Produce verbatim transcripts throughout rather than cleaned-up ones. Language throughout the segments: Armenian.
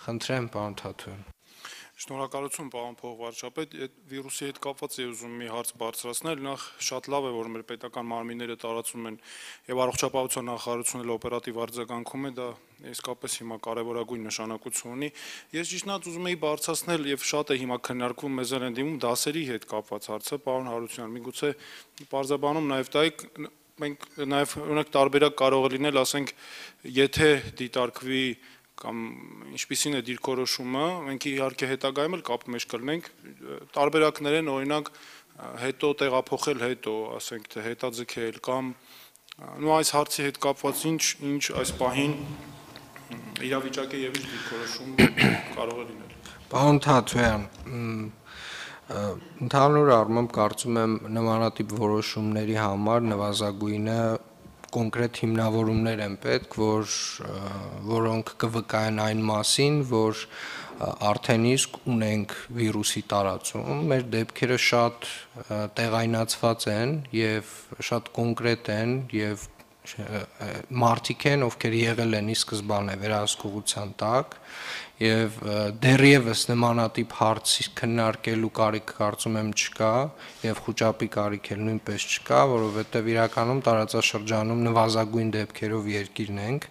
Խնդրեմ, պարոն Թաթոյան։ Շնորհակալություն, պարոն փոխվարչապետ, այդ վիրուսի հետ կապված է ուզում մի հարց բարձրացնել, նախ շատ լավ է, որ մեր պետական մարմինները տարածում են եւ առողջապահության նախարարությունը օպերատիվ արձագանքում է, դա իսկապես հիմա կարեւորագույն նշանակություն ունի։ Ես ճիշտնաց ուզում էի բարձրացնել եւ շատ է հիմա քննարկվում մեզ են դիմում դասերի հետ կապված հարցը, պարոն Հարությունյան, միգուցե պարզաբանում նաեւ տայք մենք նաեւ օրինակ տարբերակ կարող է լինել, ասենք, եթե դիտարկվի կամ ինչպիսին է դիրքորոշումը, մենք իհարկե հետագայում էլ կապի մեջ կլինենք, տարբերակներ են, օրինակ, հետո տեղափոխել հետո, ասենք, թե հետաձգել կամ նո այս հարցի հետ կապված ինչ, ինչ այս պահին իրավիճակի եւ ինչ դիրքորոշում կարող է լինել։ Պարոն Թաթոյան, ընդհանուր առմամբ կարծում եմ նմանատիպ որոշումների համար նվազագույնը կոնկրետ հիմնավորումներ են պետք, որ որոնք կվկայեն այն մասին, որ արդեն իսկ ունենք վիրուսի տարածում, մեր դեպքերը շատ տեղայնացված են եւ շատ կոնկրետ են եւ մարդիկ են, ովքեր եղել են ի սկզբանե վերահսկողության տակ եւ դեռևս նմանատիպ հարց քննարկելու կարիք կարծում եմ չկա եւ խոճապի կարիք էլ նույնպես չկա, որովհետեւ իրականում տարածաշրջանում նվազագույն դեպքերով երկիրն ենք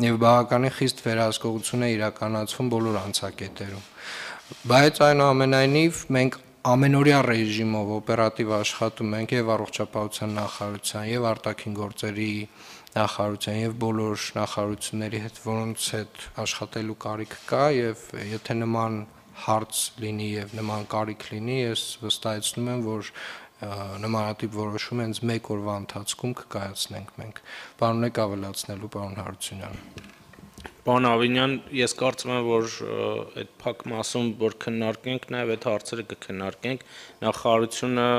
եւ բավականին խիստ վերահսկողություն է իրականացվում բոլոր անցակետերում։ Բայց այնուամենայնիվ մենք ամենօրյա ռեժիմով օպերատիվ աշխատում ենք եւ առողջապահության նախարարության եւ արտաքին գործերի նախարարության եւ բոլոր նախարարությունների հետ, որոնց հետ աշխատելու կարիք կա եւ եթե նման հարց լինի եւ նման կարիք լինի, ես վստահեցնում եմ, որ նմանատիպ որոշում հենց մեկ օրվա ընթացքում կկայացնենք մենք։ Պարոն եք ավելացնելու, պարոն Հարությունյան։ Պարոն Ավինյան, ես կարծում եմ, որ այդ փակ մասում, որ քննարկենք, նաեւ այդ հարցերը կքննարկենք, նախարարությունը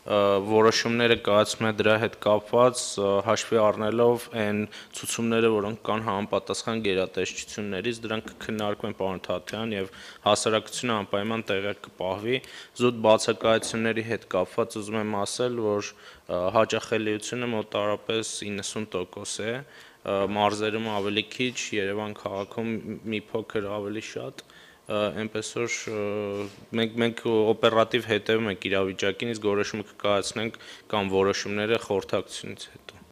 որոշումները կայացնում է դրա հետ կապված հաշվի առնելով այն ցուցումները, որոնք կան համապատասխան գերատեսչություններից, դրանք կքննարկվեն, պարոն Թաթոյան, եւ հասարակությունը անպայման տեղյակ կպահվի։ Զուտ բացակայությունների հետ կապված ուզում եմ ասել, որ հաճախելիությունը մոտավորապես իննսուն տոկոս է, մարզերում ավելի քիչ, Երևան քաղաքում մի փոքր ավելի շատ, այնպես որ մենք մենք օպերատիվ հետևում ենք իրավիճակին, իսկ որոշումը կկայացնենք կամ որոշումները խորհրդակցությունից հետո։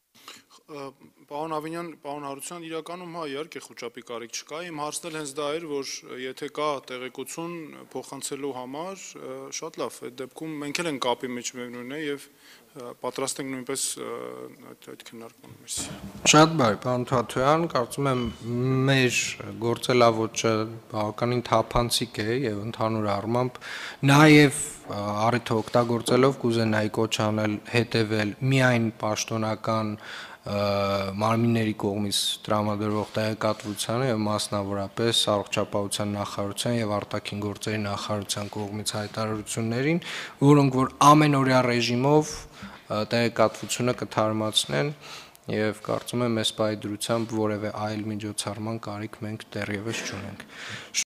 Պարոն Ավինյան, պարոն Հարությունյան, իրականում հա իհարկե խոճապի կարիք չկա, իմ հարցն էլ հենց դա էր, որ եթե կա տեղեկություն փոխանցելու համար, շատ լավ, այդ դեպքում մենք էլ ենք կապի մեջ միևնույնն է եւ պատրաստ ենք նույնպես այդ քննարկման մեջ։ Շատ բարի, պարոն Թաթոյան, կարծում եմ մեր գործելավոճը բավականին թափանցիկ է եւ ընդհանուր առմամբ նաեւ առիթը օգտագործելով կուզենայի կոչ անել հետեւել միայն պաշտոնական մարմինների կողմից տրամադրվող տեղեկատվությանը եւ մասնավորապես առողջապահության նախարարության եւ արտաքին գործերի նախարարության կողմից հայտարարություններին, որոնք որ ամենօրյա ռեժիմով տեղեկատվությունը կթարմացնեն եւ կարծում եմ այս պահի դրությամբ որևէ այլ միջոցառման կարիք մենք դեռևս չունենք։